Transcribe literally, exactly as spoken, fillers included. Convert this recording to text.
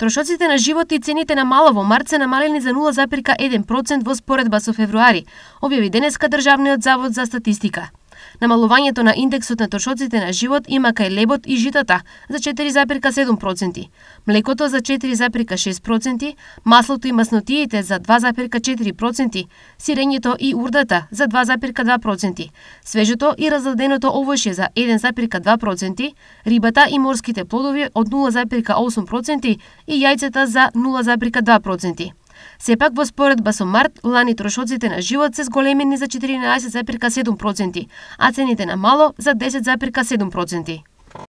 Трошоците на живот и цените на мало во март се намалени за нула запирка еден процент во споредба со февруари, објави денеска Државниот завод за статистика. Намалувањето на индексот на трошоците на живот има кај лебот и житата за четири запирка седум проценти, млекото за четири запирка шест проценти, маслото и маснотиите за два запирка четири проценти, сирењето и урдата за два запирка два проценти, свежото и разладеното овошје за еден запирка два проценти, рибата и морските плодови од нула запирка осум проценти и јајцата за нула запирка два проценти. Сепак, во споредба со март, лани трошоците на живот се зголемени за четиринаесет запирка седум проценти, а цените на мало за десет запирка седум проценти.